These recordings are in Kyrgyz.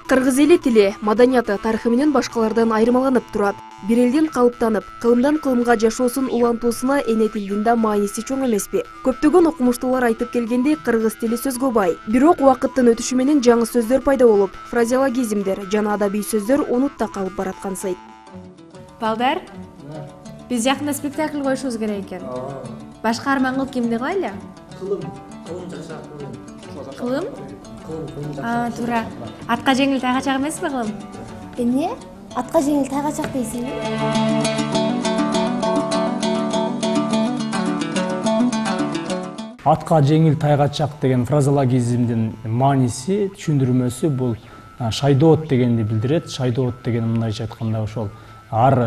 Кыргыз эли тили, маданияты, тарыхы менен башкалардан айырмаланып турат. Бир элдин калыптанып, кылымдан кылымга жашоосун улантуусуна эне тилдин да мааниси чоң эмеспи? Көптөгөн окумуштуулар айтып келгендей, кыргыз тили сөзгө бай. Бирок убакыттын өтүшү менен жаңы сөздөр пайда болуп, фразеологизмдер жана адабий сөздөр унутта калып бараткансыйт. Балдар, биз жакында спектакль коюшубуз керек экен. Баш каарман кылып кимди кылайлы? Кылым? Туура. Атка жеңил тайгачак эмеспи кылым? Эмне? Атка жеңил тайгачак дейсиңби? Атка жеңил тайгачак деген фразеологизмдин мааниси, түшүндүрмөсү бул шайдоот дегенди билдирет. Шайдоот деген мындайча айтканда ошол ар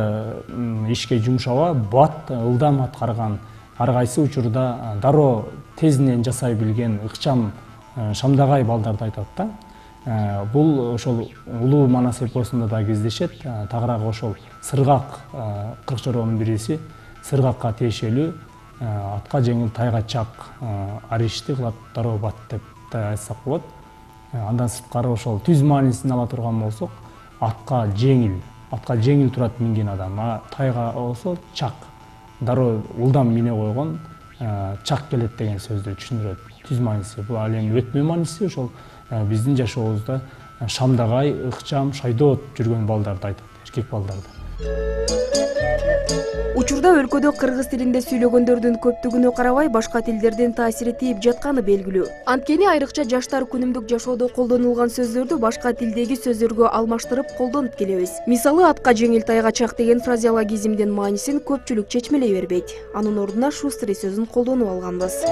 ишке жумшаба, бат, ылдам аткарган, ар кайсы учурда дароо тезинен жасай билген ыкчам шамдагай балдарды айтат да. Бул ошол улуу манас эпосунда да кездешет. Тагыраак ошол сыргак кырк чоронун бириси сыргакка тиешелүү атка жеңил тайгачак ар ишти кылат дароо бат деп да айтсак болот. Андан сырткары ошол түз маанисин ала турган болсок, атка жеңил турат минген адам, тайга болсо чак, дароо улдам мине койгон чак келет деген сөздү түшүндүрөт. Түз мааниси бул ал эми өтмө мааниси ошол биздин жашообузда шамдагай, ыкчам, шайдоот жүргөн балдарды айтат, эркек балдарды. Учурда өлкөдө кыргыз тилинде сүйлөгөндөрдүн көптүгүнө карабай башка тилдердин таасири тийип жатканы белгилүү. Анткени айрыкча жаштар күнүмдүк жашоодо колдонулган сөздөрдү башка тилдеги сөздөргө алмаштырып колдонуп келебиз. Мисалы, атка жеңил тайгачак деген фразеологизмдин маанисин көпчүлүк чечмелей бербейт. Анын ордуна шустри сөзүн колдонуп алганбыз.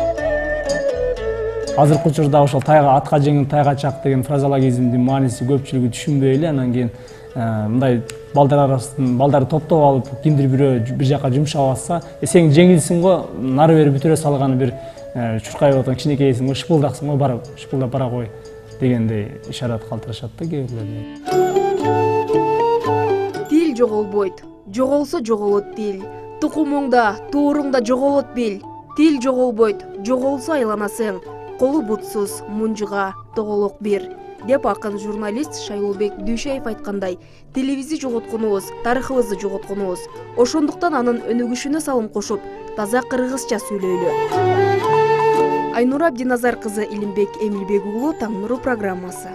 Азыркы учурда ошол атка жеңил тайгачак деген фразеологизмдин мааниси көпчүлүгү түшүнбөй эле, анан кийин мындай балдар арасынан балдарды топтоп алып, кимдир бирөө бир жака жумшап атса, сен жеңилсиң го, нары бери бүтүрө салган бир чуркайып аткан кичинекейсиң го, шыпылдаксың го, барып шыпылдап бара кой дегендей ишарат калтырышат да кээ бирлер. Тил жоголбойт, жоголсо жоголот тил. Тукумуңда, тууруңда жоголот бил. Тил жоголбойт, жоголсо айланасың. Колу бутсуз, мунжуга, тоголок бир. Деп акын журналист Шайлообек Дүйшеев айткандай, тилибизди жоготконубуз, тарыхыбызды жоготконубуз. Ошондуктан анын өнүгүшүнө салым кошуп, таза кыргызча сүйлөйлү. Айнура Абдиназар кызы, Илимбек Эмилбек уулу, Таң нуру программасы.